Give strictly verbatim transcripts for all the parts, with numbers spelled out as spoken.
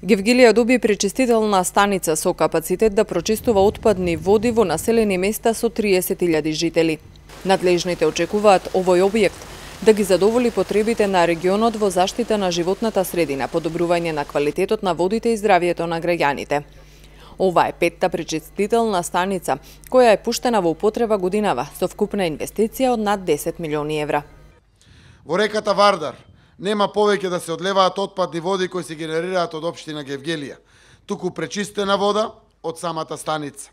Гевгелија доби пречистителна станица со капацитет да прочистува отпадни води во населени места со триесет илјади жители. Надлежните очекуваат овој објект да ги задоволи потребите на регионот во заштита на животната средина, подобрување на квалитетот на водите и здравието на граѓаните. Ова е петта пречистителна станица, која е пуштена во употреба годинава, со вкупна инвестиција од над десет милиони евра. Во реката Вардар нема повеќе да се одлеваат отпадни води кои се генерираат од општина Гевгелија, туку пречистена вода од самата станица.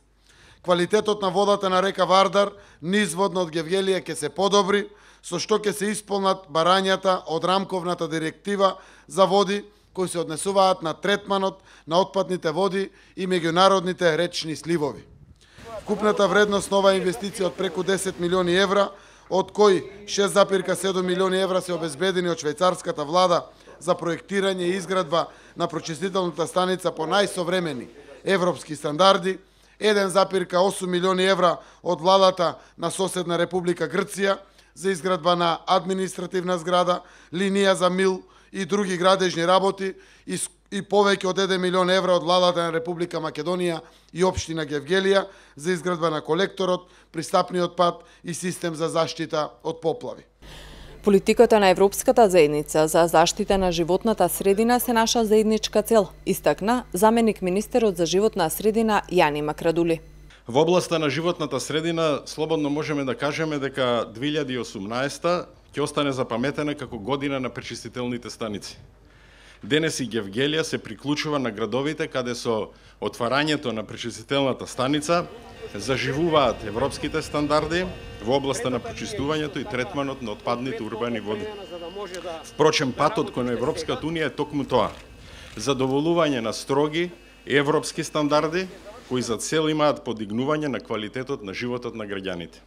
Квалитетот на водата на река Вардар низводно од Гевгелија ќе се подобри, со што ќе се исполнат барањата од рамковната директива за води кои се однесуваат на третманот на отпадните води и меѓународните речни сливови. Вкупната вредност на оваа инвестиција од преку десет милиони евра, од кои шест зарез и седум милиони евра се обезбедени од швајцарската влада за проектирање и изградба на прочистителната станица по најсовремени европски стандарди, еден зарез и осум милиони евра од владата на соседна Република Грција за изградба на административна зграда, линија за мил и други градежни работи и, и повеќе од еден милион евра од владата на Република Македонија и општина Гевгелија за изградба на колекторот, пристапниот пат и систем за заштита од поплави. Политиката на Европската заедница за заштита на животната средина се наша заедничка цел, истакна заменик министерот за животна средина Јани Макрадули. Во областа на животната средина слободно можеме да кажеме дека две илјади и осумнаесета ќе остане запаметена како година на пречистителните станици. Денес и Гевгелија се приклучува на градовите каде со отварањето на пречистителната станица заживуваат европските стандарди во областа на пречистувањето и третманот на отпадните урбани води. Впрочем, патот кон Европската унија е токму тоа: задоволување на строги европски стандарди кои за цел имаат подигнување на квалитетот на животот на граѓаните.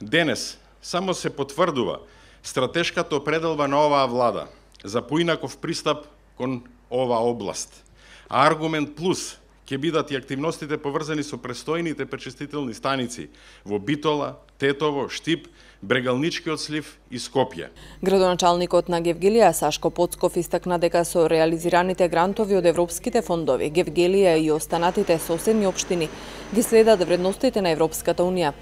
Денес само се потврдува стратешката определба на оваа влада за поинаков пристап кон оваа област. А аргумент плюс ќе бидат и активностите поврзани со престојните пречистителни станици во Битола, Тетово, Штип, Брегалничкиот слив и Скопје. Градоначалникот на Гевгелија Сашко Поцков истакна дека со реализираните грантови од европските фондови, Гевгелија и останатите соседни општини ги следат вредностите на Европската унија,